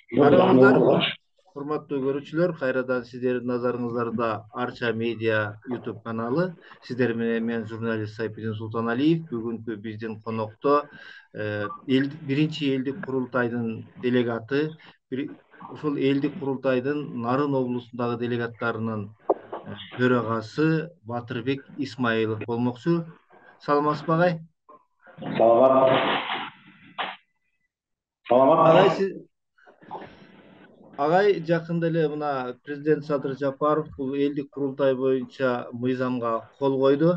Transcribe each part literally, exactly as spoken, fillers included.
Карабыңыздар, урматтуу көрүүчүлөр, кайрадан сиздердин назарыңыздарда Арча медиа YouTube каналы. Сиздер менен мен журналист Сайпидин Султаналиев. Бүгүнкү биздин конокто биринчи элдик курултайдын делегаты, ушул элдик курултайдын Нарын облусундагы делегаттарынын төрагасы Батырбек Исмаилов болмокчу. Саламатсызбы агай? Саламат. Саламат. Агай, Агай жакында эле мына президент Садыр Жапаров бул элдик курултай боюнча мыйзамга кол койду.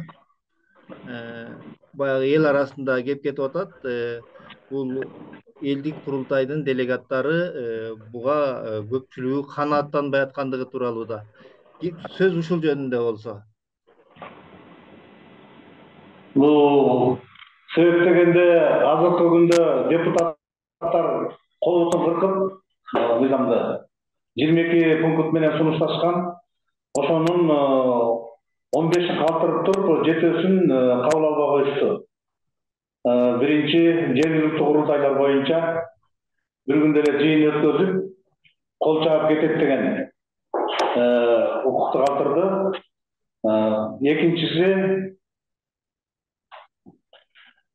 Баягы эл арасында кеп кетип атат. Бул элдик курултайдын делегаттары буга көпчүлүгү канааттанбай аткандыгы тууралуу да. Сөз ушул жөнүндө болсо. Бул себеп дегенде азыркы күндө депутаттар колун кыркып мыйзамды жыйырма эки пункт менен сунушташкан. Ошонун он бешин калтырып туруп жетөөсүн кабыл албай коюшту. Биринчи жергиликтүү курултайлар боюнча бир күндө эле жыйын өткөзүп кол чаап кетет деген укукту калтырды. Экинчиси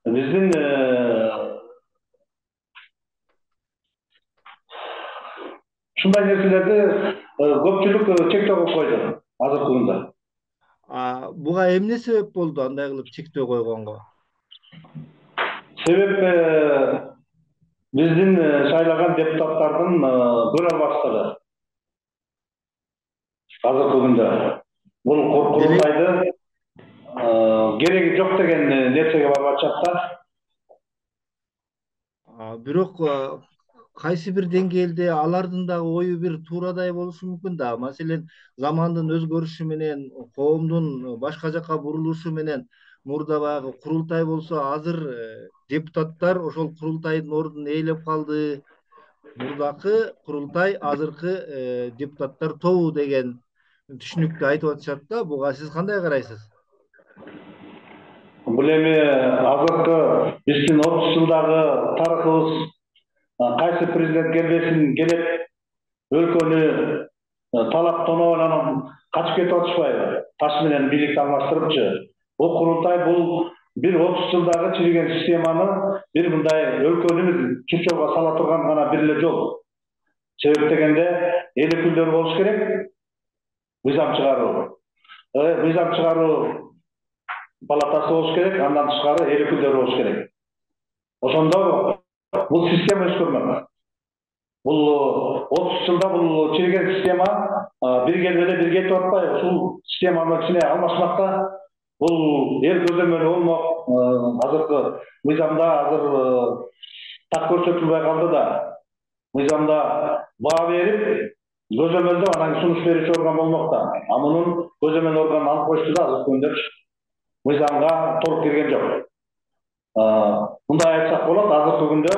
биздин ушундай нерселерди көпчүлүк чектөө коюп койду азыркы күндө. Буга эмне себеп болду андай кылып чектөө койгонго? Себеп биздин шайлаган депутаттардын көрө албаштыгы. Азыркы күндө бул курултайды кереги жок деген нерсеге барып атышат да. Бирок кайсы бир деңгээлде алардын дагы ою бир туурадай болушу мүмкүн да. Маселен, замандын өзгөрүшү менен, коомдун башка жакка бурулушу менен мурда баягы курултай болсо, азыр депутаттар ошол курултайдын ордун ээлеп калды. Мурдакы курултай азыркы депутаттар тобу деген түшүнүктү айтып атышат да. Буга сиз кандай карайсыз? Бул эми азыркы биздин отуз жылдагы тарыхыбыз кайсы президент келбесин келет, өлкөнү талап тоноо менен качып кетип атышпайбы? Таш менен бийликти алмаштырыпчы. Бул курултай бул бир отуз жылдагы чириген системаны бир мындай өлкөнү чурчоого сала турган гана бир эле жол. Себеп дегенде эл өкүлдөрү болуш керек, мыйзам чыгаруу. Мыйзам чыгаруу палатасы болуш керек, андан тышкары эл өкүлдөрү болуш керек. Ошондо бул система өзгөрмөк. Бул отуз жылда бул чириген система бир келбеде бир кетип атпайбы? Ушул системаны кичине алмашмакта бул эл көзөмөлү болмок. Азыркы мыйзамда азыр так көрсөтүлбөй калды да. Мыйзамда баа берип, көзөмөлдөп анан сунуш берүүчү орган болмок да. А мунун көзөмөл органын алып коюшту да азыркы күндө мыйзамга толук кирген жок. Мындай айтсак болот, азыркы күндө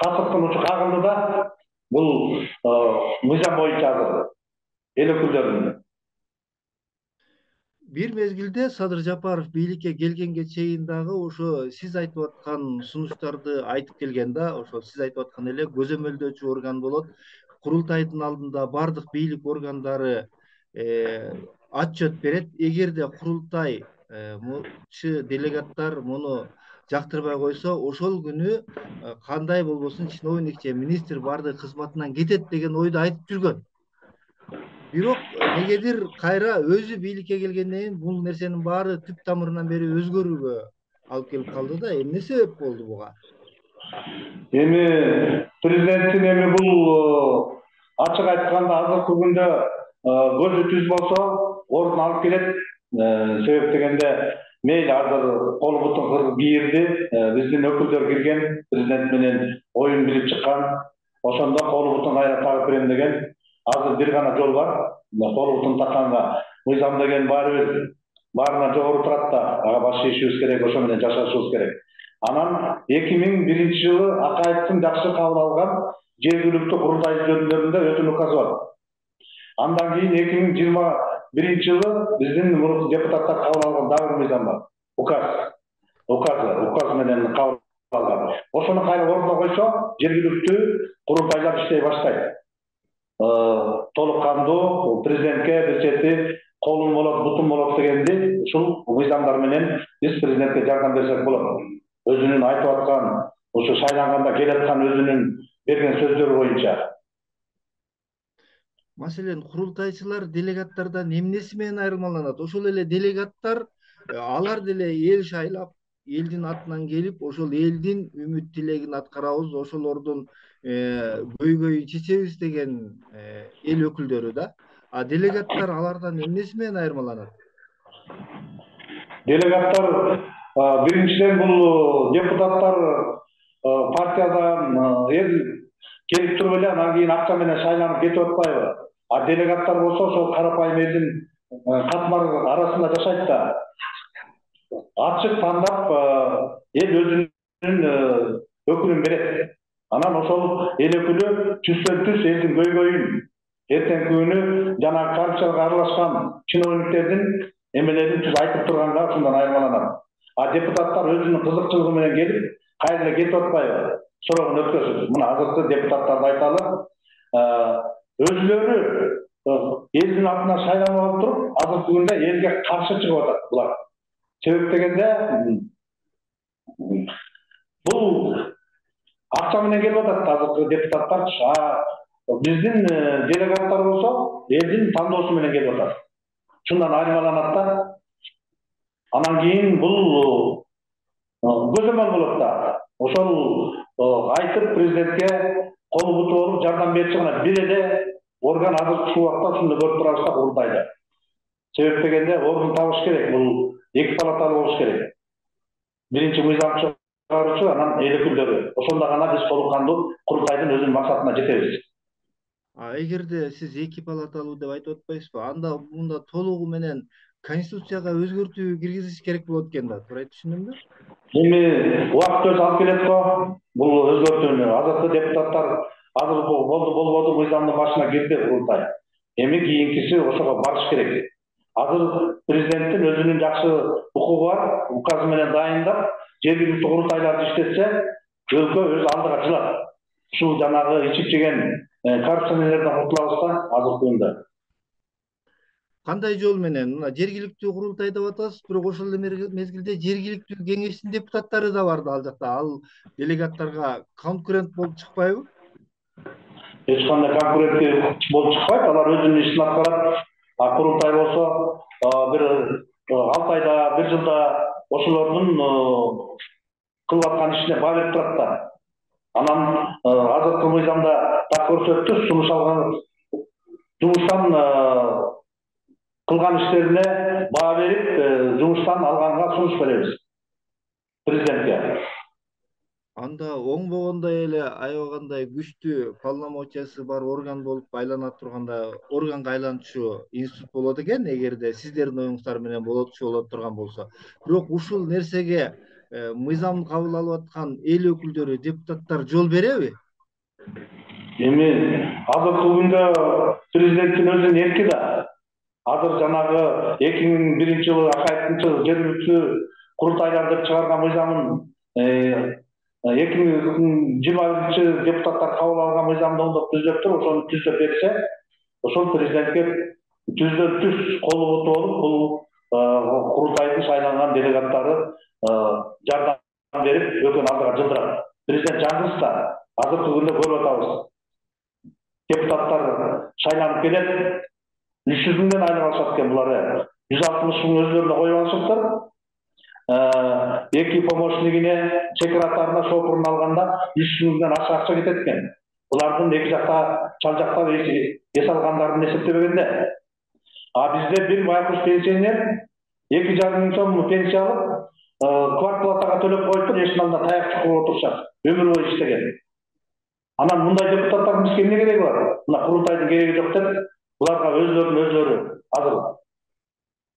касыптын учу кагылды да бул мыйзам боюнча азыр эл өкүлдөрүнүн. Бир мезгилде Садыр Жапаров бийликке келгенге чейин дагы ошо сиз айтып аткан сунуштарды айтып келген да. Ошо сиз айтып аткан эле көзөмөлдөөчү орган болот. Курултайдын алдында бардык бийлик органдары отчет берет. Эгерде курултай делегаттар муну жактырбай койсо, ошол күнү кандай болбосун чиновник же министр бардык кызматынан кетет деген ойду айтып жүргөн. Бирок негедир кайра өзү бийликке келгенден кийин бул нерсенин баары түп тамырынан бери өзгөрүүгө алып келип калды да. Эмне себеп болду буга? Эми президенттин эми бул ачык айтканда азыркы күндө көзү түз болсо ордун алып келет. Себеп дегенде мейли азыр колу бутун кыргып кийирди. Биздин өкүлдөр кирген, президент менен оюн билип чыккан. Ошондо колу бутун кайра тагып берем деген. Азыр бир гана жол бар. Колу бутун такканга мыйзам деген баарыбир баарынан жогору турат да. Ага баш ийишибиз керек, ошо менен жашашыбыз керек. Анан эки миң биринчи жылы Акаевдин жакшы кабыл алган жергиликтүү курултай жөнүндө өтүн указы бар. Андан кийин эки миң жыйырма биринчи жылы биздин депутаттар кабыл алган дагы бир мыйзам бар. Указ. Указ, указ менен кабыл алган. Ошону кайра ордуна койсо, жергиликтүү курултайлар иштей баштайт. Толук кандуу президентке бир чети колум болот, бутум болот дегенди ушул мыйзамдар менен биз президентке жардам берсек болот. Өзүнүн айтып аткан, ушу шайланганда келаткан өзүнүн берген сөздөрү боюнча. Маселен, курултайчылар делегаттардан эмнеси менен айырмаланат? Ошол эле делегаттар алар деле эл шайлап, элдин атынан келип, ошол элдин үмүт тилегин аткарабыз, ошолордун көйгөйүн чечебиз деген эл өкүлдөрү да. А делегаттар алардан эмнеси менен айырмаланат? Делегаттар биринчиден бул депутаттар партиядан эл келип туруп эле анан кийин акча менен шайланып кетип атпайбы? А делегаттар болсо ошол карапайым элдин катмар арасында жашайт да. Ачык тандап эл өзүнүн өкүлүн берет. Анан ошол эл өкүлү түздөн түз элдин көйгөйүн эртеңки күнү жанагы коррупцияга аралашкан чиновниктердин эмелерин түз айтып турганга ушундан айырмаланат. А депутаттар өзүнүн кызыкчылыгы менен келип, кайра эле кетип атпайбы? Сорогун өткөзүп, мына азыркы депутаттарды айталы, өзүлөрү элдин атынан шайланып алып туруп, азыркы күндө элге каршы чыгып атат булар. Себеп дегенде бул акча менен келип атат азыркы депутаттар. Биздин делегаттар болсо элдин тандоосу менен келип атат. Шундан айырмаланат да. Анан кийин бул көзөмөл болот да. Ошол айтып президентке колу буту болуп жардам берчи гана бир эле орган азыр ушул убакта ушунду көрүп турабыз да, курултайда. Себеп дегенде ордун табыш керек. Бул эки палаталуу болуш керек. Биринчи мыйзам чыгаруучу, анан эл өкүлдөрү. Ошондо гана биз толук кандуу курултайдын өзүнүн максатына жетебиз. А эгерде сиз эки палаталуу деп айтып атпайсызбы? Анда мында толугу менен Конституцияга өзгөртүү киргизиш керек болот экен да. Туура түшүндүмбү? Эми убакыт өзү алып келет го бул өзгөртүүнү. Азыркы депутаттар азыр болду болбоду мыйзамдын башына кирди курултай. Эми кийинкиси ошого барыш керек. Азыр президенттин өзүнүн жакшы укугу бар, указы менен дайындап, жергиликтүү курултайларды иштетсе, өлкө өз алдыга жылат. Ушул жанагы ичип жеген коррупционерлерден кутулабыз да азыркы күндө. Кандай жол менен? Мына жергиликтүү курултай деп атасыз, бирок ошол эле мезгилде жергиликтүү кеңештин депутаттары да бар да ал жакта. Ал делегаттарга конкурент болуп чыкпайбы? Эч кандай конкурент болуп чыкпайт. Алар өзүнүн ишин аткарат. А курултай болсо бир алты айда, бир жылда ошолордун кылып аткан ишине баа берип турат да. Анан азыркы мыйзамда так көрсөттү, сунуш алган жумуштан кылган иштерине баа берип, жумуштан алганга сунуш беребиз президентке. Анда оңбогондой эле аябагандай күчтүү полномочиясы бар орган болуп айлана турганда органга айланчу институт болот экен, эгерде сиздердин оюңуздар менен болотчу боло турган болсо. Бирок ушул нерсеге мыйзамды кабыл алып аткан эл өкүлдөрү, депутаттар жол береби? Эми азыркы күндө президенттин өзүнүн эрки да. Азыр жанагы эки миң биринчи жылы Акаевдин жергиликтүү курултайлар деп чыгарган мыйзамын эки миң жыйырма биринчи депутаттар кабыл алган мыйзамды оңдоп түзөп туруп, ошону түзөп берсе, ошол президентке түздөн түз колу буту болуп, бул курултайдын шайланган делегаттары жардам берип, өлкөнүн алдыга жылдырат. Президент жаңгыз да азыркы күндө көрүп атабыз. Депутаттар шайланып келет, үч жүз миңден айлык алышат экен булар. жүз алтымыш миң өзлөрүнө коюп алышыптыр. Эки помощнигине, секретарына, шопуруна алганда үч жүз миңден ашык акча кетет экен. Булардын эки жакта чал жактап эс алгандарын эсептебегенде. А бизде бир байкуш пенсионер эки жарым миң сом пенсия алып, квартплатага төлөп коюптур, эшиктин алдында таяк чукуп отурушат. Өмүр бою иштеген. Анан мындай депутаттардын бизге эмне кереги бар? Мына курултайдын кереги жок деп, буларга өзлөрүнүн өзлөрү азыр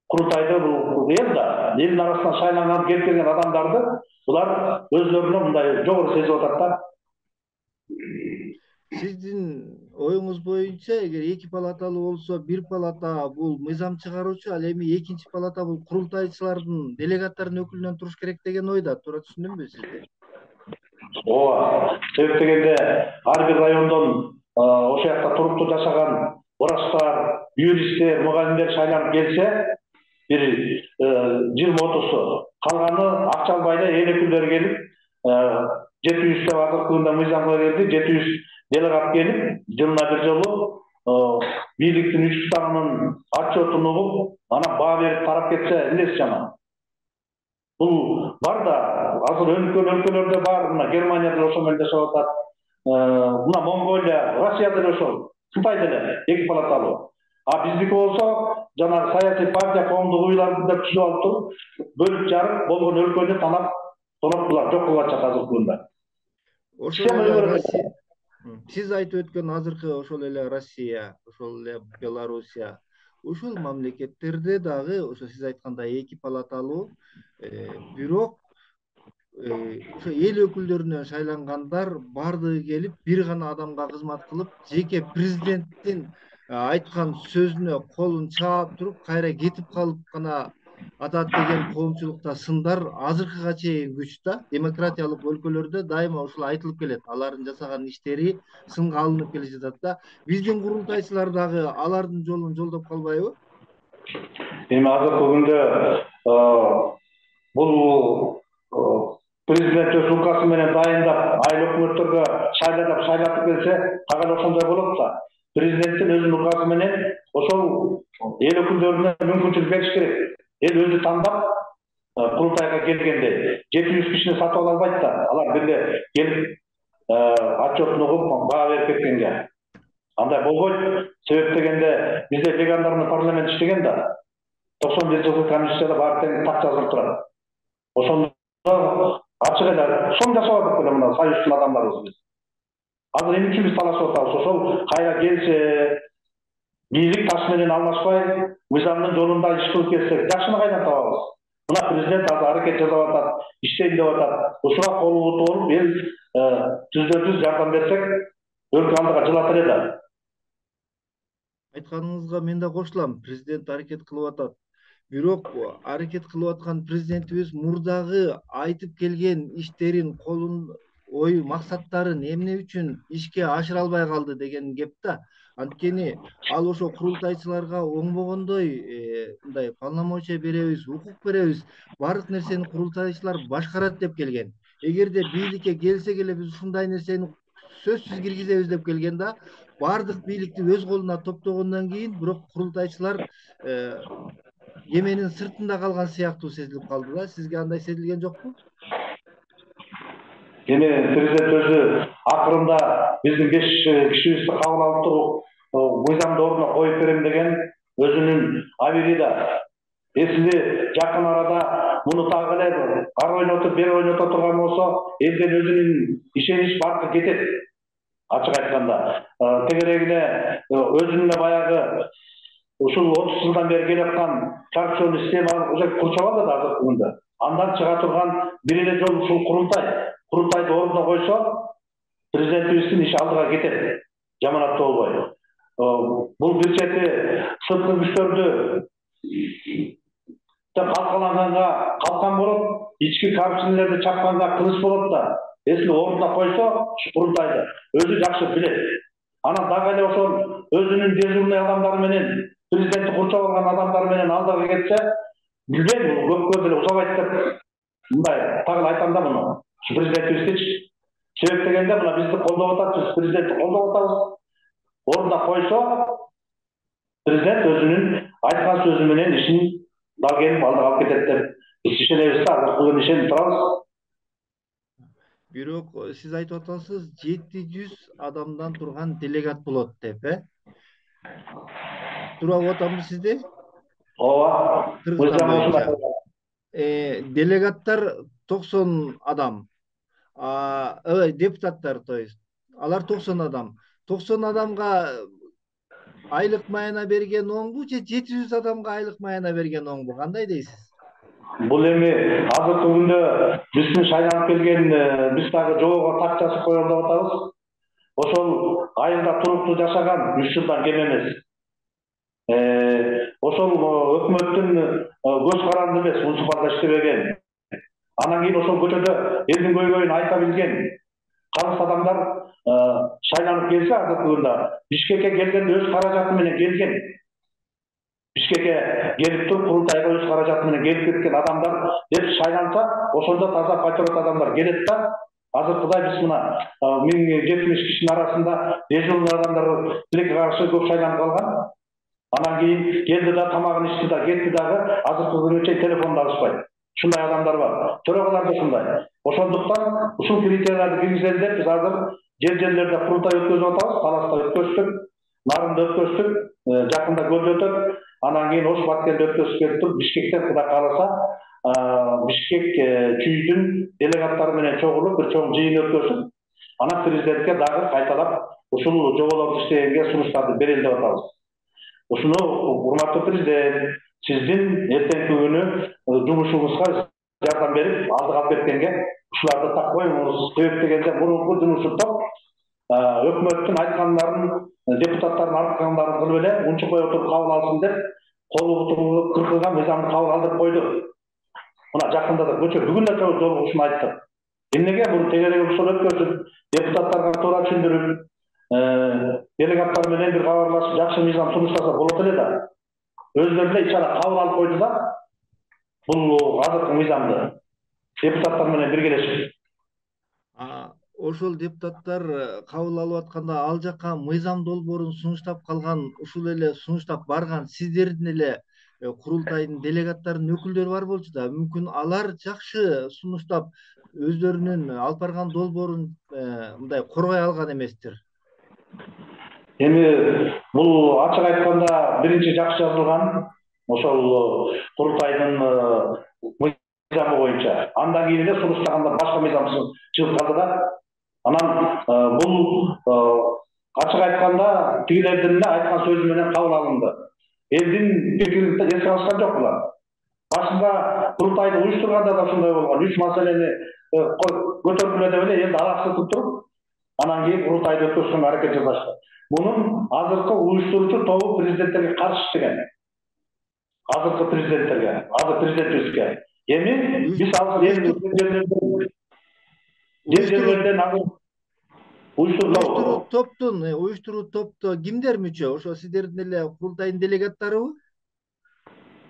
курултайды бул эл да, элдин арасынан шайланган келип келген адамдарды булар өзлөрүнө мындай жогору сезип атат да. Сиздин оюңуз боюнча, эгер эки палаталуу болсо, бир палата бул мыйзам чыгаруучу, ал эми экинчи палата бул курултайчылардын, делегаттардын өкүлүнөн туруш керек деген ойда. Туура түшүндүмбү сизди? ооба. Себеп дегенде ар бир райондон ошол жакта туруктуу жашаган врачтар, юристтер, мугалимдер шайланып келсе, бир жыйырма отузу, калганы акча албай эле эл өкүлдөрү келип, жети жүз деп азыркы күндө мыйзамга келди, жети жүз делегат келип, жылына бир жолу бийликтин үч кутагынын отчетун угуп, анан баа берип тарап кетсе эмнеси жаман? Бул бар да, азыр өнүккөн өлкөлөрдө бар, мына Германияда ошол менен жашап атат, мына Монголия, Россияда да ошол, Кытайда эле эки палаталуу. А биздики болсо, жанагы саясий партия коомдук уйларды деп түзүп алып туруп, бөлүп жарып болгон өлкөнү танап, тоноп булар жок кылып атышат азыркы күндө. Ошол эле Россия, сиз айтып өткөн азыркы ошол эле Россия, ошол эле Белоруссия, ушул мамлекеттерде дагы ошо сиз айткандай эки палаталуу, бирок ошо эл өкүлдөрүнөн шайлангандар баардыгы келип бир гана адамга кызмат кылып, жеке президенттин айткан сөзүнө колун чаап туруп, кайра кетип калып гана атат деген коомчулукта сындар азыркыга чейин күч да. Демократиялык өлкөлөрдө дайыма ушул айтылып келет. Алардын жасаган иштери сынга алынып келе жатат да. Биздин курултайчылар дагы алардын жолун жолдоп калбайбы? Эми азыркы күндө бул президент өз указы менен дайындап, айыл өкмөттөргө шайлап шайлатып келсе, кагал ошондой болот да. Президенттин өзүнүн указы менен ошол эл өкүлдөрүнө мүмкүнчүлүк бериш керек. Эл өзү тандап курултайга келгенде жети жүз кишини сатып ала албайт да. Алар бирге келип отчетун угуп баа берип кеткенге. Андай болбойт. Себеп дегенде бизде легендарный парламент иштеген да. токсон бир жылкы конституцияда баары тең так жазылып турат. Ошондо ачык эле сом жашап атат эле мына союздун адамдарыбыз биз. Азыр эмне үчүн биз талашып атабыз? Ошол кайра келсе, бийлик таш менен алмашпай, мыйзамдын жолунда иш кылып келсек, жакшыны кайдан табабыз? Мына президент азыр аракет жасап атат, иштейм деп атат. Ушуга колу толуп, эл түздөн түз жардам берсек, өлкө алдыга жылат эле да. Айтканыңызга мен да кошулам. Президент аракет кылып атат. Бирок аракет кылып аткан президентибиз мурдагы айтып келген иштерин, колун ой максаттарын эмне үчүн ишке ашыра албай калды деген кеп да. Анткени ал ошо курултайчыларга оңбогондой мындай полномочия беребиз, укук беребиз, баардык нерсени курултайчылар башкарат деп келген. Эгерде бийликке келсек эле биз ушундай нерсени сөзсүз киргизебиз деп келген да. Баардык бийликти өз колуна топтогондон кийин бирок курултайчылар эменин сыртында калган сыяктуу сезилип калды да. Сизге андай сезилген жокпу? Эми президент өзү акырында биздин беш кишибизди кабыл алып туруп, мыйзамды ордуна коюп берем деген өзүнүн абирида. Эсили жакын арада муну так эле ар ойнотуп, бери ойното турган болсо, элден өзүнүн ишенич бардыгы кетет. Ачык айтканда, тегерегине өзүнүн баягы ушул отуз жылдан бери келаткан коррупционный система уже курчап алды азыркы күндө. Андан чыга турган бир эле жол ушул курултай. Курултайды ордуна койсо, президентибиздин иши алдыга кетет. Жаманаттуу болбой. Бул бир чети сырткы күчтөрдү калкаланганга калкан болот, ички коррупционерлерди чапканга кылыч болот да. Эсили ордуна койсо, курултайды өзү жакшы билет. Анан дагы эле ошол өзүнүн дежурный адамдары менен, президентти курчап алган адамдары менен алдыга кетсе, билбейм, көпкө деле узабайт деп мындай так эле айтам да муну. Президентибиздичи. Себеп дегенде мына бизди колдоп атат, президентти колдоп атабыз. Ордуна койсо, президент өзүнүн айткан сөзү менен ишин дал келип алдыга алып кетет деп биз ишенебиз да, азыркы күнү ишенип турабыз. Бирок сиз айтып атасыз, жети жүз адамдан турган делегат болот деп, э? Туура болуп атамбы сизде? Ооба. Кыргызстан боюнча. Э, делегаттар токсон адам. А, ой, депутаттар, то есть. Алар токсон адам. токсон адамга айлык майына берген оңбу же жети жүз адамга айлык майына берген оңбу? Кандай дейсиз? Бул эми азыркы күндө биздин шайланып келген биз дагы жобого так жазып коелу деп атабыз. Ошол айылда туруктуу жашаган үч жылдан кем эмес. Ошол өкмөттүн көз каранды эмес, муниципалда иштебеген. Анан кийин ошол көчөдө элдин көйгөйүн айта билген калыс адамдар шайланып келсе, азыркы күндө Бишкекке келгенде өз каражаты менен келген. Бишкекке келип туруп курултайга өз каражаты менен келип кеткен адамдар деп шайланса, ошондо таза патриот адамдар келет да. Азыркыдай биз мына миң жетимиш кишинин арасында дежурный адамдар тилекке каршы көп шайланып калган. Анан кийин келди да тамагын ичти да кетти дагы, азыркы күнгө чейин телефонду алышпайт. Ушундай адамдар бар. Төрагалар да ушундай. Ошондуктан ушул критерияларды киргизели деп биз азыр жер-жерлерде курултай өткөзүп атабыз. Таласта өткөздүк, Нарында өткөздүк, жакында Көлдө өтөт. Анан кийин Ош Баткенде өткөзүп келип туруп, Бишкектен Кудай кааласа, Бишкек чүйдүн делегаттары менен чогулуп бир чоң жыйын өткөзүп, анан президентке дагы кайталап ушул жоболорду иштегенге сунуштарды берели деп атабыз. Ушуну урматтуу президент, сиздин эртеңки күнү жумушуңузга жардам берип, алдыга алып кеткенге ушуларды так коюңуз. Себеп дегенде мурунку жумушу топ өкмөттүн айткандарын, депутаттардын айткандарын кылып эле унчукпай отуруп кабыл алсын деп, колу кыркылган мыйзамды кабыл алдырып койду. Мына жакында да көчө бүгүн да жолугуп ушуну айттык. Эмнеге бул тегерек ушул өткөзүп, депутаттарга туура түшүндүрүп, делегаттар менен бир кабарлашып, жакшы мыйзам сунуштаса болот эле да. Өздөрү эле ичара кабыл алып койду да. Бул азыркы мыйзамды депутаттар менен биргелешип. Ошол депутаттар кабыл алып атканда ал жака мыйзам долбоорун сунуштап калган, ушул эле сунуштап барган сиздердин эле курултайдын делегаттарынын өкүлдөрү бар болчу да, мүмкүн алар жакшы сунуштап өздөрүнүн алып барган долбоорун мындай коргой алган эместир. Эми бул ачык айтканда биринчи жакшы жазылган ошол курултайдын мыйзамы боюнча. Андан кийин эле сунуштаганда башка мыйзам чыгып калды да. Анан бул ачык айтканда тигилердин эле айткан сөзү менен кабыл алынды. Элдин пикирин эске алышкан жок булар. Башында курултайды уюштурганда да ушундай болгон. Үч маселени көтөргүлө деп эле элди алаксытып туруп, анан кийин курултайды өткөзүшкө аракет жасашты. Мунун азыркы уюштуруучу тобу президенттерге каршы иштеген. Азыркы президенттерге, азыр президентибизге. Эми биз азыр жер-жерлерден азыр уюштуруу топтун, уюштуруу топто кимдер мүчө? Ошо сиздердин эле курултайдын делегаттарыбы?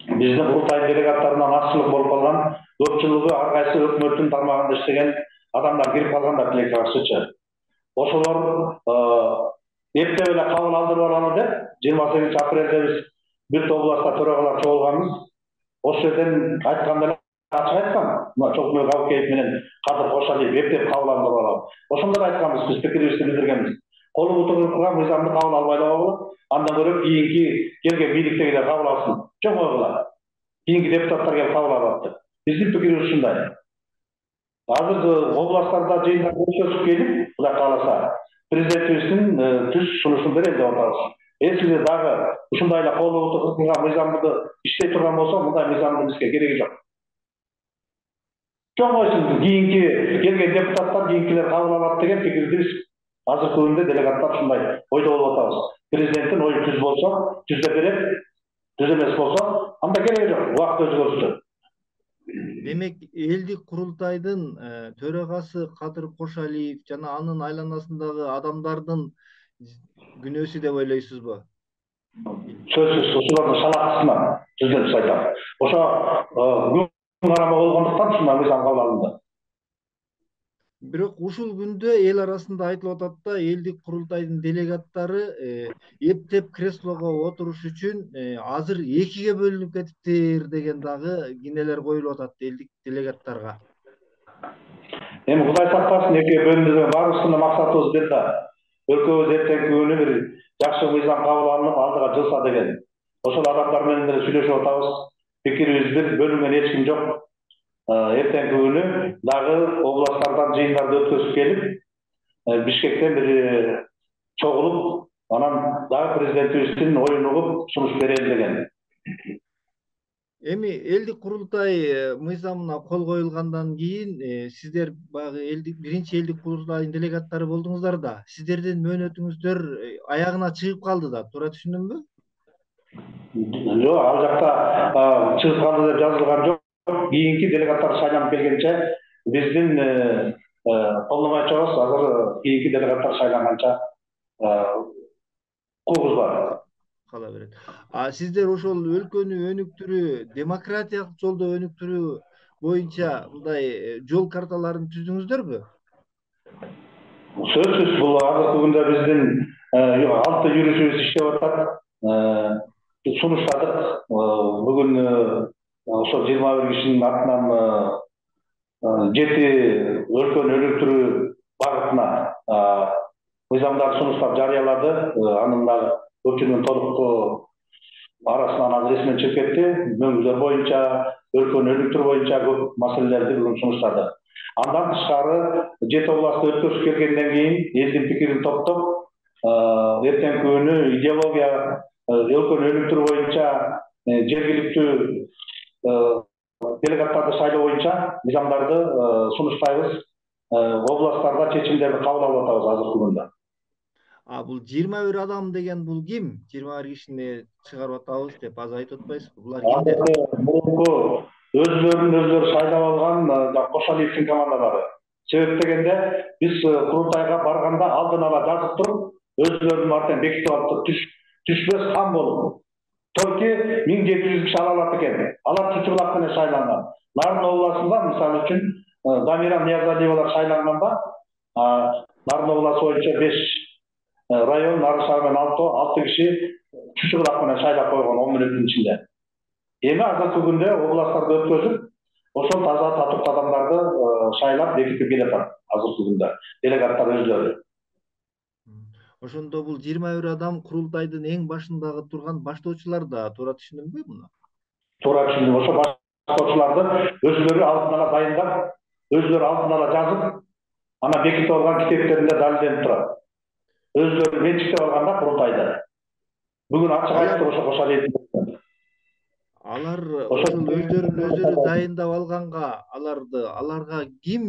Биздин курултайдын делегаттарынан азчылык болуп калган, көпчүлүгү ар кайсы өкмөттүн тармагында иштеген адамдар кирип калгандар тилекке каршычы. Ошолор эптеп эле кабыл алдырып алалы деп жыйырма сегизинчи апрелде биз бир топ областта төрагалар чогулганбыз. Ошол жерден айтканда ачык айткан, мына Чокмой Кабыкеев менен Кадыр Кошалиев эптеп кабыл алдырып алалы. Ошондо айтканбыз, биз пикирибизди билдиргенбиз. Колу утуруп мыйзамды кабыл албай да болот. Андан көрө кийинки келген бийликтегилер кабыл алсын. Жок ойгула. Кийинки депутаттар келип кабыл алат деп. Биздин пикирибиз ушундай. Азыр областтарда жыйындар өткөзүп келип, Кудай кааласа, президентибиздин түз сунушун берели деп атабыз. Эсиде дагы ушундай эле колу утуруп мыйзамды иштей турган болсо, мындай мыйзамдын бизге кереги жок. Жок ойсуз, кийинки келген депутаттар кийинкилер кабыл алат деген пикирди биз азыркы күндө делегаттар ушундай ойдо болуп атабыз. Президенттин ою түз болсо, түздө берет, түз эмес болсо, анда кереги жок, убакыт өзү көрсөтөт. Демек, элдик курултайдын төрагасы Кадыр Кошалиев жана анын айланасындагы адамдардын күнөөсү деп ойлойсузбу? Сөзсүз, ушулардын шалактысынан жүздөп айтам. Ошо күн карама болгондуктан ушундай мыйзам кабыл алынды. Бирок ушул күндө эл арасында айтылып атат да, элдик курултайдын делегаттары эптеп креслого отуруш үчүн азыр экиге бөлүнүп кетиптир деген дагы кинелер коюлуп атат элдик делегаттарга. Эми Кудай сактасын, экиге бөлүнүү баарыбыздын максатыбыз бир да. Өлкөбүз эртеңки күнү бир жакшы мыйзам кабыл алынып, алдыга жылса деген. Ошол адамдар менен деле сүйлөшүп атабыз. Пикирибиз бир, бөлүнгөн эч ким жок. Эртеңки күнү дагы областтардан жыйындарды өткөзүп келип, Бишкектен бир чогулуп, анан дагы президентибиздин оюн угуп сунуш берели деген. Эми элдик курултай мыйзамына кол коюлгандан кийин сиздер баягы элдик биринчи элдик курултайдын делегаттары болдуңуздар да. Сиздердин мөөнөтүңүздөр аягына чыгып калды да, туура түшүндүмбү? Жок, ал жакта чыгып калды деп жазылган жок. кийинки делегаттар шайланып келгенче биздин полномочиябыз азыр кийинки делегаттар шайланганча укугубуз бар. Кала берет. А сиздер ошол өлкөнү өнүктүрүү, демократиялык жолдо өнүктүрүү боюнча мындай жол карталарын түздүңүздөрбү? Сөзсүз бул азыркы күндө биздин алты юристибиз иштеп атат. Сунуштадык. Бүгүн ошо жыйырма бир кишинин атынан жети өлкөнү өнүктүрүү багытына мыйзамдарды сунуштап жарыялады. Анын дагы көпчүлүгүнүн толуктуу арасынан азыр эсимен чыгып кетти. Мөңгүлдөр боюнча, өлкөнү өнүктүрүү боюнча көп маселелерди бүгүн сунуштады. Андан тышкары жети областты өткөзүп келгенден кийин элдин пикирин топтоп, эртеңки күнү идеология өлкөнү өнүктүрүү боюнча жергиликтүү делегаттарды шайлоо боюнча мыйзамдарды сунуштайбыз. Областтарда чечимдерди кабыл алып атабыз азыркы күндө. А бул жыйырма бир адам деген бул ким? жыйырма бир кишини чыгарып атабыз деп азыр айтып атпайсызбы? Булар кимдер? Мурунку өзлөрүн өздөрү шайлап алган Кошалиевдин командалары. Себеп дегенде биз курултайга барганда алдын ала жазып туруп, өзлөрүнүн артынан бекитип алып түшпөс хан болуп. Только миң жети жүз киши ала алат экен. Алар чучурлак менен шайланган. Нарын областында мисалы үчүн Дамира Ниязалиевалар шайланганда, Нарын обласы боюнча беш район, Нарын шаар менен алты киши чучурлак менен шайлап койгон он мүнөттүн ичинде. Эми азыркы күндө областтарды өткөзүп, ошол таза татык адамдарды шайлап бекитип келатат азыркы күндө делегаттар өздөрү. Ошондо бул жыйырма бир адам курултайдын эң башындагы турган баштоочулар да, туура түшүндүмбү муну? Туура түшүндүм. Ошо баштоочуларды өзлөрү алдын ала дайындап, өзлөрү алдын ала жазып, ана бекитип алган китептеринде далилденип турат. Өзлөрү менчиктеп алганда курултайды. Бүгүн ачык айтты ошо Кошалиевдин. Алар ошол өздөрүн өздөрү дайындап алганга, аларды аларга ким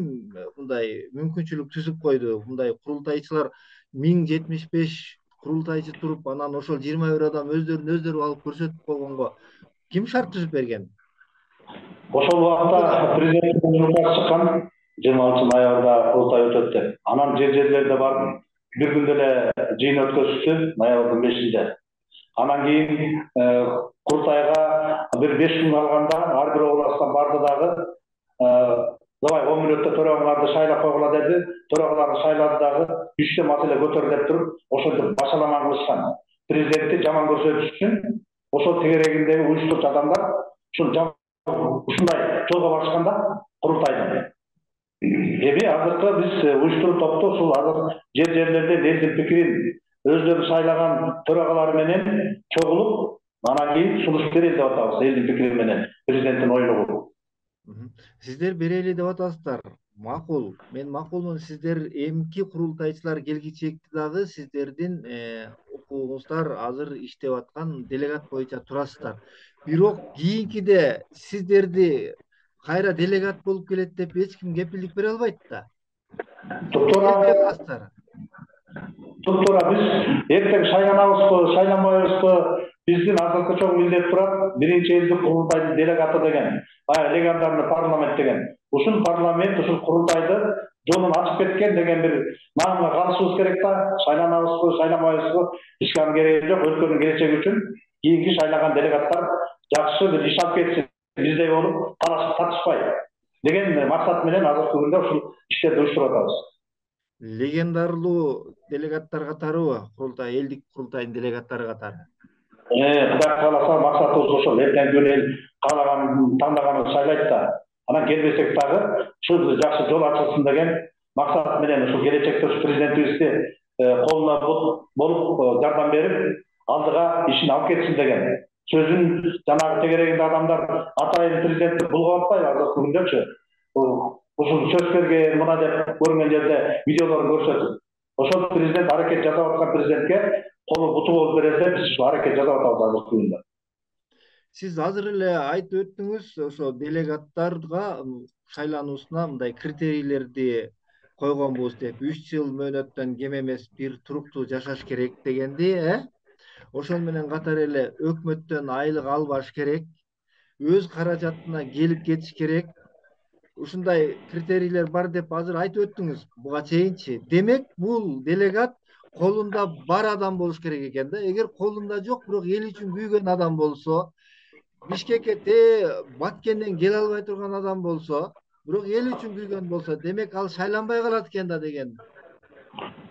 мындай мүмкүнчүлүк түзүп койду? Мындай курултайчылар миң жетимиш беш курултайчы туруп, анан ошол жыйырма бир адам өздөрүн өздөрү алып көрсөтүп койгонго ким шарт түзүп берген? Ошол убакта президенттин указ чыккан, жыйырма алтынчы ноябрда курултай өтөт деп. Анан жер жерлерде барып бир күндө эле жыйын өткөзүштү, ноябрдын бешинде. Анан кийин курултайга бир беш күн калганда ар бир областтан барды дагы давай он мүнөттө төрагаңарды шайлап койгула деди. Төрагаларды шайлады дагы үчтө маселе көтөр деп туруп, ошентип башаламан кылышкан. Президентти жаман көрсөтүш үчүн ошол тегерегиндеги уюштуруучу адамдар ушул ушундай жолго барышканда курултайдын. Эми азыркы биз уюштуруу топту ушул азыр жер жерлерде элдин пикирин өздөрү шайлаган төрагалар менен чогулуп, анан кийин сунуш берели деп атабыз элдин пикири менен, президенттин оюна угуп. Сиздер берели деп атасыздар. Макул. Мен макулмун. Сиздер эмки курултайчылар келгичекти дагы сиздердин укугуңуздар азыр иштеп аткан делегат боюнча турасыздар. Бирок кийинкиде сиздерди кайра делегат болуп келет деп эч ким кепилдик бере албайт да. Туптуура Туптуура биз эртең шайланабызбы, шайланбайбызбы? Биздин азыркы чоң милдет турат. Биринчи элдик курултайдын делегаты деген, баягы легендарный парламент деген. Ушул парламент, ушул курултайды жолун ачып кеткен деген бир наамга калышыбыз керек да. Шайланабызбы, шайланбайбызбы? Бизге анын кереги жок. Өлкөнүн келечеги үчүн кийинки шайлаган делегаттар жакшы бир иш алып кетсин, биздей болуп талашып татышпай деген максат менен азыркы күндө ушул иштерди уюштуруп атабыз. Легендарлуу делегаттар катарыбы? Курултай, элдик курултайдын делегаттары катары. Э, Кудай кааласа максатыбыз ошол. Эртеңки күнү эл каалаганын, таңдаганын шайлайт да. Анан келбесек дагы ушул жакшы жол ачылсын деген максат менен ушул келечекте ушу президентибизди колуна болуп жардам берип, алдыга ишин алып кетсин деген сөзүн жанагы тегерегинде адамдар атайын президентти булгап атпайбы азыркы күндөчү? Ушул сөз берген мына деп көрүнгөн жерде видеолорун көрсөтүп. Ошол президент аракет жасап аткан президентке колу буту болуп берет деп биз ушул аракет жасап атабыз азыркы күндө. Сиз азыр эле айтып өттүңүз, ошо делегаттарга шайлануусуна мындай критерийлерди койгонбуз деп, үч жыл мөөнөттөн кем эмес бир туруктуу жашаш керек дегенди, э? Ошол менен катар эле өкмөттөн айлык албаш керек. өз каражатына келип кетиш керек. Ушундай критерийлер бар деп азыр айтып өттүңүз буга чейинчи. Демек бул делегат колунда бар адам болуш керек экен да. Эгер колунда жок, бирок эл үчүн күйгөн адам болсо, Бишкекке те Баткенден келе албай турган адам болсо, бирок эл үчүн күйгөн болсо, демек ал шайланбай калат экен да деген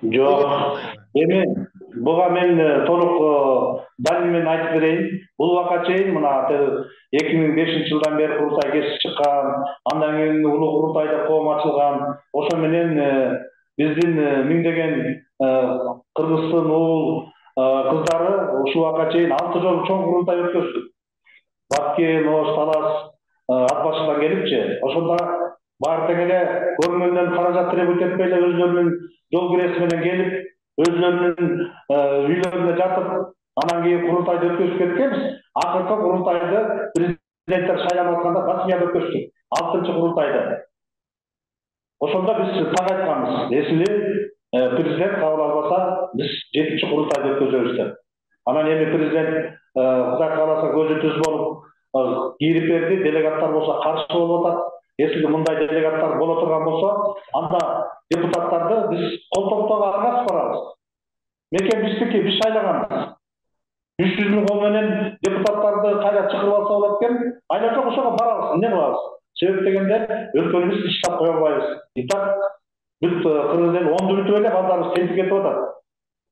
ой Жок. кетип атпайбы? Эми буга мен э, толук далил менен айтып берейин. Бул убакка чейин мына эки миң бешинчи жылдан бери курултай кесип чыккан, андан кийин улуу курултайда коом ачылган. Ошо менен э, биздин э, миңдеген кыргыздын уул кыздары ушул убакка чейин алты жолу чоң курултай өткөздүк. Баткен, Ош, Талас ат башыдан келипчи. Ошондо баары тең эле көрүнгөндөн каражат требовать этпей эле өзлөрүнүн жол киреси менен келип, өзлөрүнүн үйлөрүнө жатып, анан кийин курултайды өткөзүп кеткенбиз. Акыркы курултайды президенттер шайланып атканда Басмияда өткөздүк. алтынчы курултайды. Ошондо биз так айтканбыз. Если президент кабыл албаса, биз жетинчи курултайды өткөзөбүз деп. Анан эми президент Кудай кааласа көзү түз болуп кирип берди. Делегаттар болсо каршы болуп атат. Если мындай делегаттар боло турган болсо, анда депутаттарды биз кол топтоого аргасып барабыз. Мекен биздики, биз шайлаганбыз. үч жүз миң кол менен депутаттарды кайра чакырып алса болот экен. Айла жок, ошого барабыз. Эмне кылабыз? Себеп дегенде өлкөнү биз иштеп кое албайбыз. Итак, бүт кыргыз эл оңдурутуп эле балдарыбыз тентип кетип атат.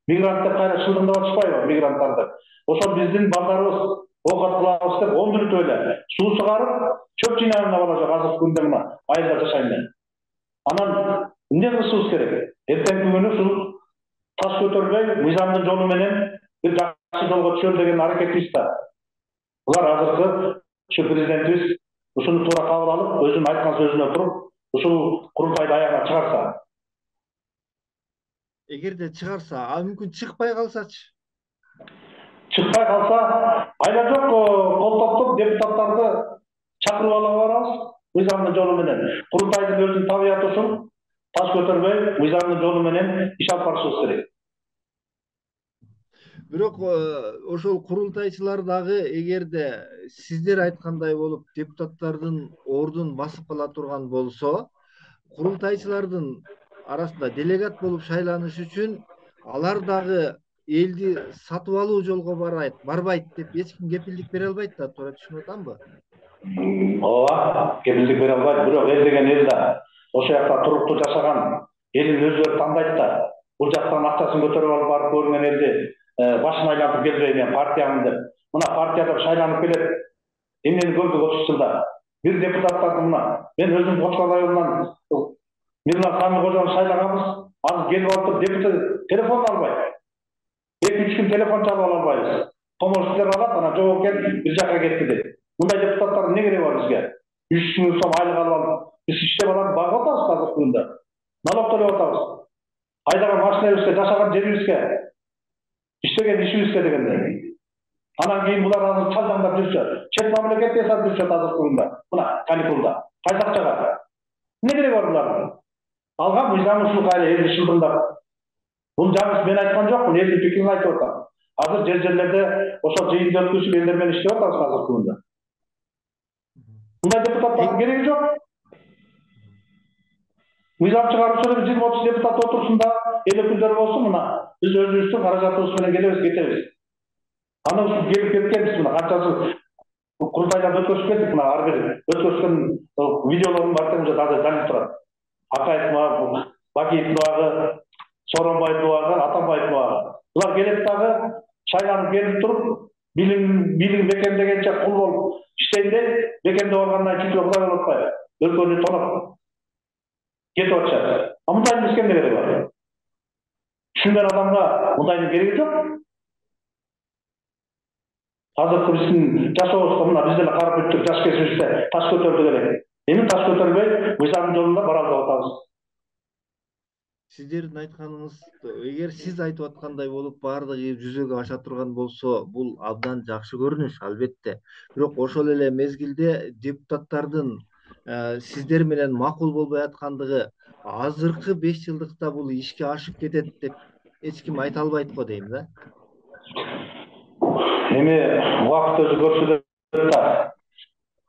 Мигрант деп кайра шылдыңдап атышпайбы мигранттарды? Ошол биздин балдарыбыз оокат кылабыз деп оңдурутуп эле суу чыгарып, чөп жыйнаган бала жок азыркы күндө мына айылда жашайм мен. Анан эмне кылышыбыз керек? Эртеңки күнү ушул таш көтөрбөй, мыйзамдын жолу менен бир жакшы жолго түшөм деген аракетибиз да. Булар азыркы ушу президентибиз ушуну туура кабыл алып, өзүнүн айткан сөзүнө туруп, ушул курултайды аягына чыгарса. Эгерде чыгарса, а мүмкүн чыкпай калсачы? Чыкпай калса, айла жок, кол топтоп депутаттарды чакырып алып барабыз мыйзамдын жолу менен. Курултайдын өзүнүн табияты ушул. Таш көтөрбөй, мыйзамдын жолу менен иш алып барышыбыз керек. Бирок ошол курултайчылар дагы эгерде сиздер айткандай болуп депутаттардын ордун басып кала турган болсо, курултайчылардын арасында делегат болуп шайланыш үчүн алар дагы элди сатып алуу жолго барайт, барбайт деп эч ким кепилдик бере албайт да, туура түшүнүп атамбы? Ооба, кепилдик бере албайт, бирок эл деген эл да. Ошол жакта туруктуу жашаган элин өздөрү тандайт да. Бул жактан акчасын көтөрүп алып барып көргөн элди башын айлантып келбей мен партиямын деп. Мына партияда шайланып келет. Эмнени көрдүк отуз жылда? Бир депутаттарды мына мен өзүм Кочкор районунан Мирлан Самикожону шайлаганбыз. Азыр келип алып депутат телефон албайт. эки үч күн телефон чалып ала албайбыз. Помощниктер алат, анан жок экен, бир жака кетти деп. Мындай депутаттардын эмне кереги бар бизге? үч миң сом айлык алып алып, биз иштеп алып багып атабыз азыркы күндө. Налог төлөп атабыз. Айдаган машинабызга, жашаган жерибизге, иштеген ишибизге дегенде. Анан кийин булар азыр чалдаңдап жүрсө, чет мамлекет жасап жүрсөт азыркы күндө. Мына каникулда. Кайсы акчага? Эмне кереги бар булардын? Алган мыйзам ушул кайра элди шылдыңдап. Бул жаңы мен айткан жокмун, элдин пикирин айтып атам. Азыр жер жерлерде ошол жыйынды өткөзүп элдер менен иштеп атабыз азыркы күндө. Мындай депутаттардын кереги жок. Мыйзам чыгаруучу жыйырма отуз депутат отурсун да, эл өкүлдөрү болсун мына. Биз өзүбүздүн каражатыбыз менен келебиз, кетебиз. Аны ушул келип кеткенбиз мына канчасы курултайларды өткөзүп кеттик мына ар бир өткөзгөн видеолордун бар тең азыр далил турат. Акаев мага, Бакиев мага, Сооронбай дубагы, Атамбаев дубагы. Булар келет дагы шайланып келип туруп, билим билим бекемдегенче кул болуп иштейм деп, бекемдеп алгандан кийин Кудай болуп атпайбы? Өлкөнү тонап кетип атышат. А мындай эмнеге эмне кереги бар? Түшүнгөн адамга мындайдын кереги жок. Азыркы биздин жашообузга мына биз деле карап өттүк, жаш кезибизде таш көтөрдүк эле. Эми таш көтөрбөй, мыйзамдын жолунда бара алып атабыз. Сиздердин айтканыңыз, эгер сиз айтып аткандай болуп баардыгы жүзөгө аша турган болсо, бул абдан жакшы көрүнүш албетте. Бирок ошол эле мезгилде депутаттардын сиздер менен макул болбой аткандыгы азыркы беш жылдыкта бул ишке ашып кетет деп эч ким айта албайт го дейм да. Эми убакыт өзү көрсөтөт да.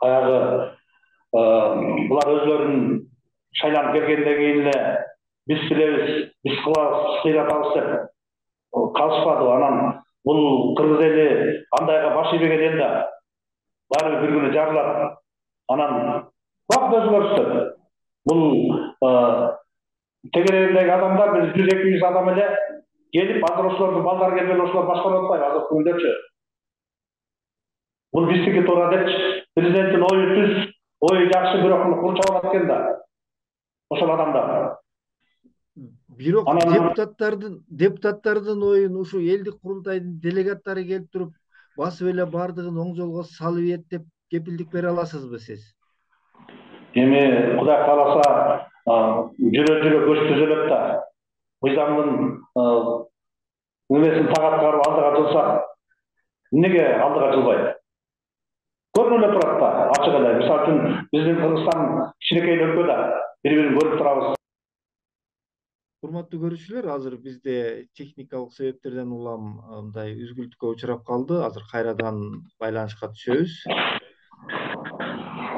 баягы булар өзлөрүн шайланып келгенден кийин эле биз билебиз, биз кылабыз, биз кыйратабыз деп калышпады. Анан бул кыргыз эли андайга баш ийбеген эл да баары бир күнү жарылат. Анан бак өзгөрүштү. Бул тегерегиндеги адамдар бир жүз эки жүз адам эле келип, азыр ошолордун балдары келбей ошолор башкарып атпайбы азыркы күндөрчү. Бул биздики туура депчи. Президенттин ою түз, ою жакшы, бирок курчап алат экен да ошол адамдар. Бирок депутаттардын депутаттардын оюн ушу элдик курултайдын делегаттары келип туруп басып эле бардыгын оң жолго салып ийет деп кепилдик бере аласызбы сиз? Эми Кудай кааласа жүрө жүрө көч түзөлөт да. Мыйзамдын немесин так аткарып алдыга жылсак, эмнеге алдыга жылбайт? Көрүнүп эле турат да, ачык эле. Мисалы үчүн биздин Кыргызстан кичинекей өлкө да, бири-бирин көрүп турабыз. Урматтуу көрүүчүлөр, азыр бизде техникалык себептерден улам мындай үзгүлтүккө учурап калды. Азыр кайрадан байланышка түшөбүз.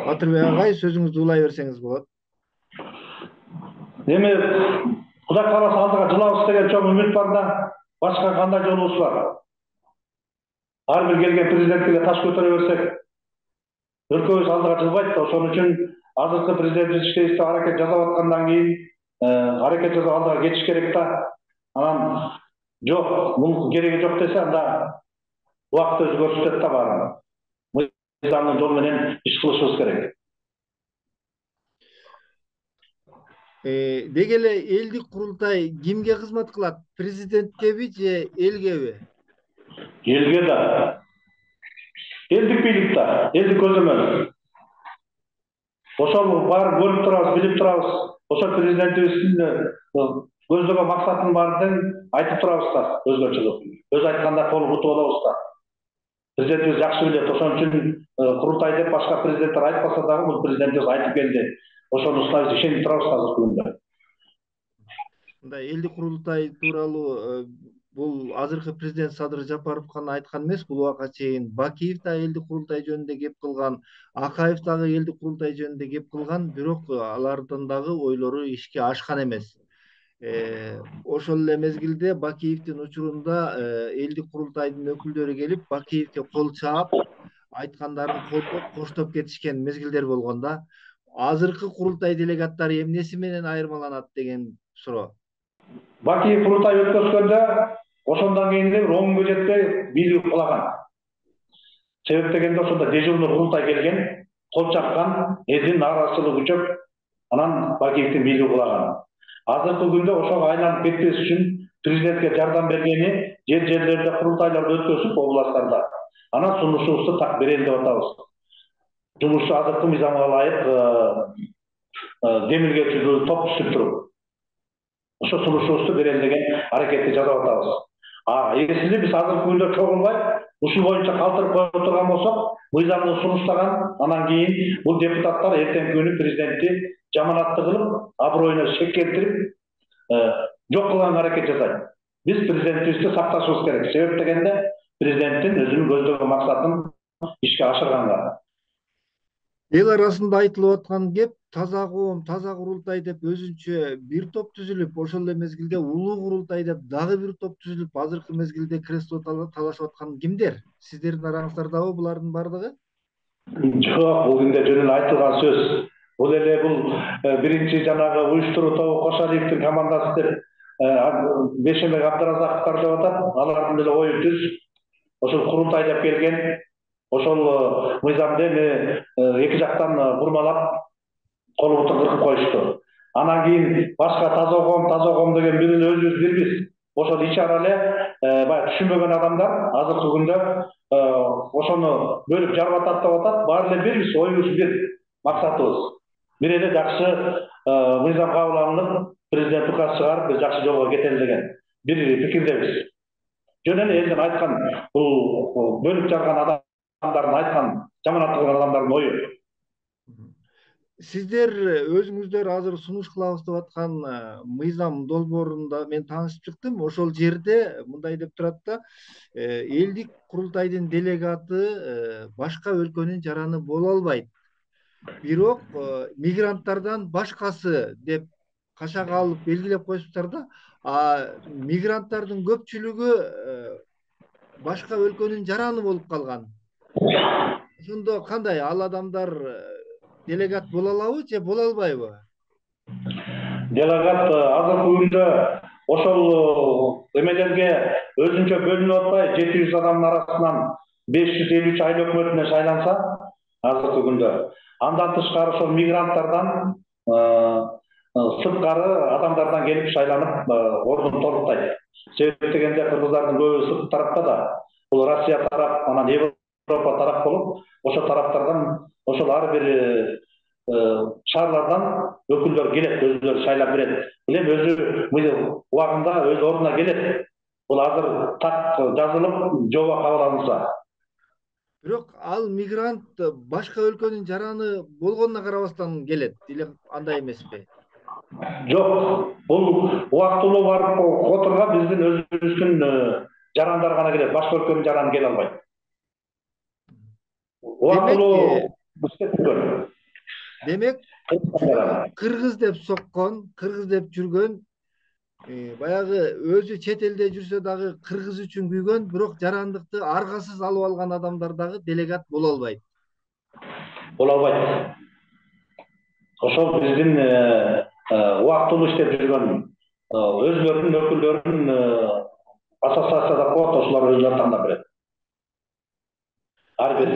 Батырбек агай, сөзүңүздү улай берсеңиз болот. Эми Кудай кааласа алдыга жылабыз деген чоң үмүт бар да, башка кандай жолубуз бар? Ар бир келген президентке таш көтөрө берсек, өлкөбүз алдыга жылбайт да. Ошон үчүн азыркы президентибиз иштейбиз аракет жасап аткандан кийин аракет жасап алдыга кетиш керек да. Анан жок, мунун кереги жок десе, анда убакыт өзү көрсөтөт да баарын. Мыйзамдын жолу менен иш кылышыбыз керек. Деги эле элдик курултай кимге кызмат кылат? Президенткеби же элгеби? Элге да. Элдик бийлик да, элдик көзөмөл. Ошол баарын көрүп турабыз, билип турабыз. Ошол президентибиздин көздөгөн максатын баарын айтып турабыз да, өзгөчө кылып. Өзү айтканда кол бутуп алабыз да. Президентибиз жакшы билет. Ошон үчүн курултай деп башка президенттер айтпаса дагы бул президентибиз айтып келди. Ошонусуна биз ишенип турабыз азыркы күндө. Мындай элдик курултай тууралуу бул азыркы президент Садыр Жапаров гана айткан эмес, бул убакка чейин Бакиев да элдик курултай жөнүндө кеп кылган, Акаев дагы элдик курултай жөнүндө кеп кылган, бирок алардын дагы ойлору ишке ашкан эмес. Ошол эле мезгилде Бакиевдин учурунда элдик курултайдын өкүлдөрү келип, Бакиевге кол чаап, айткандарын колдоп, коштоп кетишкен мезгилдер болгон да. Азыркы курултай делегаттары эмнеси менен айырмаланат деген суроо. Бакиев курултай өткөзгөндө ошондон кийин эле он күнгө жетпей бийлик кулаган. Себеп дегенде ошондо дежурный курултай келген, кол чапкан, элдин нааразычылыгы күчөп, анан Бакиевдин бийлиги кулаган. Азыркы күндө ошого айланып кетпеш үчүн президентке жардам бергени жер-жерлерде курултайларды өткөзүп, областтарда. Анан сунушубузду так берели деп атабыз. Жумушу азыркы мыйзамга ылайык демилге түзүү топ түзүп туруп, ошо сунушубузду берели деген аракетти жасап атабыз. А эсили биз азыркы күндө чогулбай, ушул боюнча калтырып кое турган болсок, мыйзамды сунуштаган, анан кийин бул депутаттар эртеңки күнү президентти жаманатты кылып, аброюна шек келтирип, жок кылганга аракет жасайт. Биз президентибизди сакташыбыз керек. Себеп дегенде президенттин өзүнүн көздөгөн максатын ишке ашырганга. Эл арасында айтылып аткан кеп таза коом, таза курултай деп өзүнчө бир топ түзүлүп, ошол эле мезгилде улуу курултай деп дагы бир топ түзүлүп, азыркы мезгилде кресло талашып аткан кимдер? Сиздердин араңыздардабы булардын бардыгы? Жок, бул күндө жөн эле айтылган сөз. Бул эле бул биринчи жанагы уюштуруу тобу Кошалиевдин командасы деп Бешембек Абдыразаковдор деп атат. Алардын деле ою түз. Ошол курултай деп келген. Ошол мыйзамды эми эки жактан бурмалап, кол бутун кыркып коюшту. Анан кийин башка таза коом, таза коом деген бир эле өзүбүз бирбиз. Ошол ичара эле баягы түшүнбөгөн адамдар азыркы күндө ошону бөлүп жарып атат деп атат. Баары эле бирбиз, оюбуз бир, максатыбыз. Бир эле жакшы мыйзам кабыл алынып, президент указ чыгарып, биз жакшы жолго кетели деген бир пикирдебиз. Жөн эле элдин айткан, бул бөлүп жарган адамдардын айткан, жаманат кылган адамдардын ою. сиздер өзүңүздөр азыр сунуш кылабыз деп аткан мыйзам долбоорунда мен таанышып чыктым. Ошол жерде мындай деп турат да, элдик курултайдын делегаты башка өлкөнүн жараны боло албайт. Бирок мигранттардан башкасы деп кашака алып белгилеп коюшуптар да. А мигранттардын көпчүлүгү башка өлкөнүн жараны болуп калган. Ошондо кандай ал адамдар делегат боло алабы же боло албайбы? Делегат азыркы күндө ошол эмелерге өзүнчө бөлүнүп атпай жети жүз адамдын арасынан беш жүз элүү үч айыл өкмөтүнө шайланса азыркы күндө, андан тышкары ошол мигранттардан сырткары адамдардан келип шайланып ордун толуктайт. Себеп дегенде кыргыздардын көбү сырткы тарапта да, бул Россия тарап, анан Европа тарап болуп, ошол тараптардан ошол ар бир шаарлардан өкүлдөр келет, өзүлөрү шайлап берет. Билем өзү убагында өз ордуна келет. Бул азыр так жазылып, жоба кабыл алынса. Бирок ал мигрант башка өлкөнүн жараны болгонуна карабастан келет, или андай эмеспи? Жок, бул убактылуу барып которго биздин өзүбүздүн жарандар гана келет, башка өлкөнүн жараны келе албайт. Убактылуу иштеп демек, кыргыз деп соккон, кыргыз деп жүргөн, баягы өзү чет элде жүрсө дагы кыргыз үчүн күйгөн, бирок жарандыкты аргасыз алып алган адамдар дагы делегат боло албайт. Боло албайт. Ошол биздин убактылуу иштеп жүргөн өзүлөрүнүн өкүлдөрүн ассоциацияда коет, ошолор өзүлөрү тандап берет. Ар бир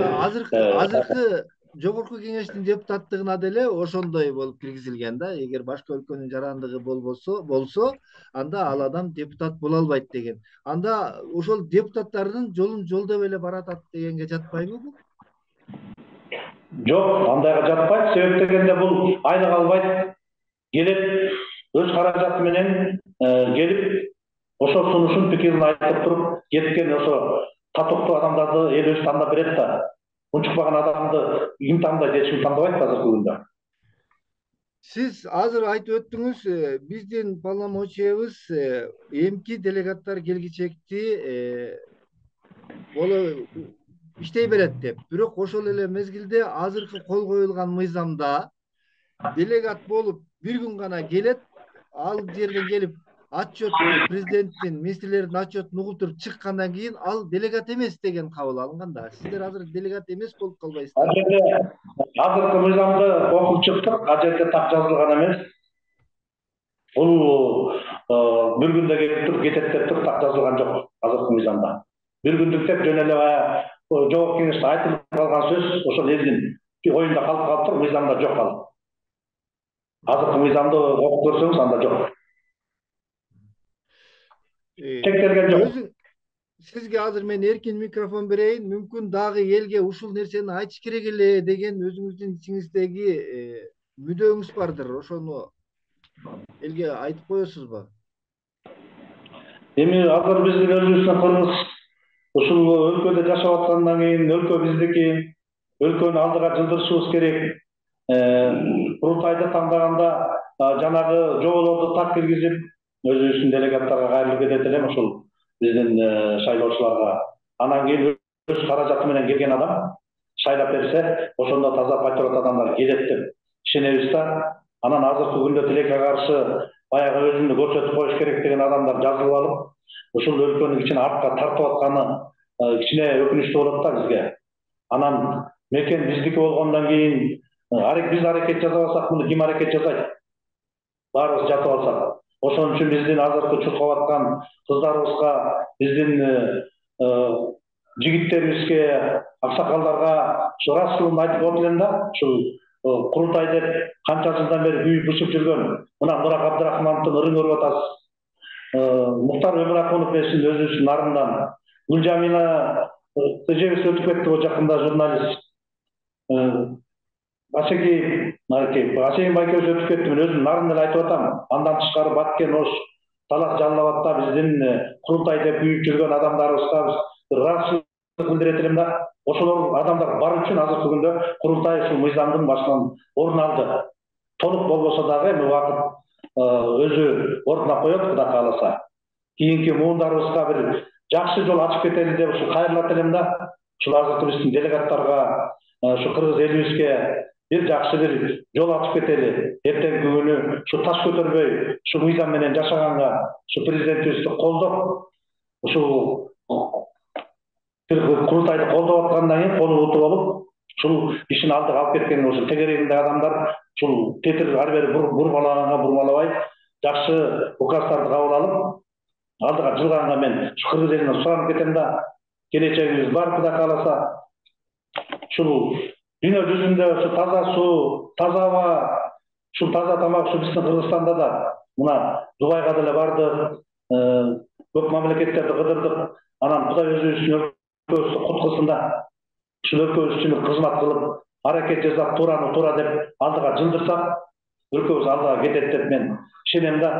азыркы Жогорку Кеңештин депутаттыгына деле ошондой болуп киргизилген да. Эгер башка өлкөнүн жарандыгы болбосо, болсо, анда ал адам депутат боло албайт деген. Анда ошол депутаттардын жолун жолдоп эле баратат дегенге жатпайбы бул? Жок, андайга жатпайт. Себеп дегенде бул айлык албайт. Келет, өз каражаты менен келип, ошол сунушун пикирин айтып туруп, кеткен ошо татыктуу адамдарды эл өзү тандап берет да. Унчукпаган адамды ким тандайт, эч ким тандабайт азыркы күндө. Сиз азыр айтып өттүңүз, биздин полномочиябыз эмки делегаттар келгичекти боло иштей берет деп. Бирок ошол эле мезгилде азыркы кол коюлган мыйзамда делегат болуп бир күн гана келет, ал жерден келип отчетту президенттин, министрлердин отчетун угуп туруп чыккандан кийин ал делегат эмес деген кабыл алынган да. Сиздер азыр делегат эмес болуп калбайсыздар? Ал жерде азыркы мыйзамды окуп чыктык, ал жерде так жазылган эмес. Бул бир күндө келип туруп кетет деп туруп так жазылган жок азыркы мыйзамда. Бир күндүк деп жөн эле баягы Жогорку Кеңеште айтылып калган сөз ошол элдин оюнда калып калыптыр, мыйзамда жок ал. Азыркы мыйзамды окуп көрсөңүз анда жок. Тектелген жок. Сизге азыр мен эркин микрофон берейин, мүмкүн дагы элге ушул нерсени айтыш керек эле деген өзүңүздүн ичиңиздеги мүдөөңүз бардыр. Ошону элге айтып коесузбу? Эми азыр биздин өзүбүздүн кыргыз ушул өлкөдө жашап аткандан кийин өлкө биздики, өлкөнү алдыга жылдырышыбыз керек. Курултайды тандаганда жанагы жоболорду так киргизип, өзүбүздүн делегаттарга кайрылып кетет элем ошол биздин шайлоочуларга. Анан кийин өз каражаты менен келген адам шайлап берсе, ошондо таза патриот адамдар келет деп ишенебиз да. Анан азыркы күндө тилекке каршы баягы өзүнү көрсөтүп коюш керек деген адамдар жазылып алып, ушул өлкөнү кичине артка тартып атканы кичине өкүнүчтүү болот да бизге. Анан мекен биздики болгондон кийин биз аракет жасап алсак, муну ким аракет жасайт? Баарыбыз жатып алсак. Ошон үчүн биздин азыркы чуркап аткан кыздарыбызга, биздин жигиттерибизге, аксакалдарга ушу расчылын айтып коет элем да. Ушул курултай деп канча жылдан бери күйүп бышып жүргөн мына Мурак Абдрахмановдун ырын көрүп атасыз. Муктар Өмүракунов эсин өзүбүздүн нарындан, Гүлжамина эжебиз өтүп кетти бул жакында, журналист. Асеки, Асейин байкебиз өтүп кетти, мен өзүм нарын эле айтып атам. Андан тышкары Баткен, Ош, Талас, Жалал Абадта биздин курултай деп күйүп жүргөн адамдарыбызга расчыл билдирет элем да. Ошолор адамдар бар үчүн азыркы күндө курултай ушул мыйзамдын башынан орун алды. Толук болбосо дагы эми убакыт өзү ордуна коет, Кудай кааласа. Кийинки муундарыбызга бир жакшы жол ачып кетели деп ушу кайрылат элем да. Ушул азыркы биздин делегаттарга, ушу кыргыз элибизге бир жакшы бир жол ачып кетели. Эртеңки күнү ушу таш көтөрбөй, ушу мыйзам менен жашаганга ушу президентибизди колдоп, ушул курултайды колдоп аткандан кийин кону утуп алып, ушул ишин алдыга алып кеткен ушу тегерегинде адамдар ушул тетир ары бери бурмалаганга бурмалабай, жакшы указдарды кабыл алып, алдыга жылганга мен ушу кыргыз элине суранып кетем да, келечегибиз бар, Кудай кааласа. Ушул дүйнө жүзүндө ушу таза суу, таза аба, ушул таза тамак ушу биздин Кыргызстанда да, мына Дубайга деле бардык, көп мамлекеттерди кыдырдык. Анан Кудай өзүбүздүн өлкөбүздү куткузсун да, ушул өлкөбүз үчүн кызмат кылып, аракет жасап, туураны туура деп алдыга жылдырсак, өлкөбүз алдыга кетет деп мен ишенем да.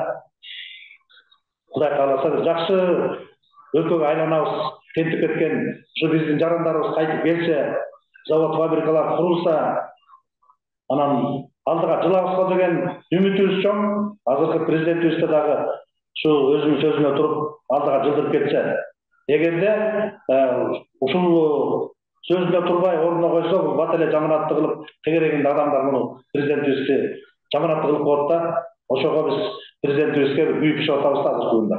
Кудай кааласа жакшы өлкөгө айланабыз. Тентип кеткен ушу биздин жарандарыбыз кайтып келсе, завод фабрикалар курулса, анан алдыга жылабызга деген үмүтүбүз чоң. Азыркы президентибизде дагы ушу өзүнүн сөзүнө туруп алдыга жылдырып кетсе, эгерде ушул сөзүнө турбай ордуна койсо, бул бат эле жаманатты кылып, тегерегинде адамдар муну президентибизди жаманатты кылып коет да. Ошого биз президентибизге күйүп ишип атабыз да азыркы күндө.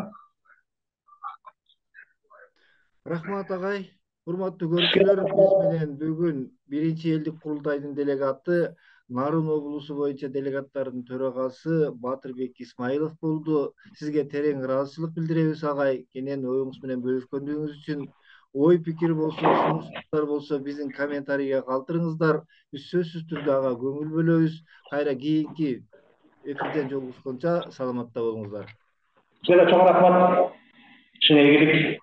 Рахмат агай. Урматтуу көрүүчүлөр, биз менен бүгүн биринчи элдик курултайдын делегаты, Нарын облусу боюнча делегаттардын төрагасы Батырбек Исмаилов болду. Сизге терең ыраазычылык билдиребиз агай. Кенен оюңуз менен бөлүшкөндүгүңүз үчүн. Ой пикир болсо, сунуштар болсо биздин комментарийге калтырыңыздар. Биз сөзсүз түрдө ага көңүл бөлөбүз. Кайра кийинки эфирден жолугушконча саламатта болуңуздар. Сизге чоң рахмат. Чын ийгилик.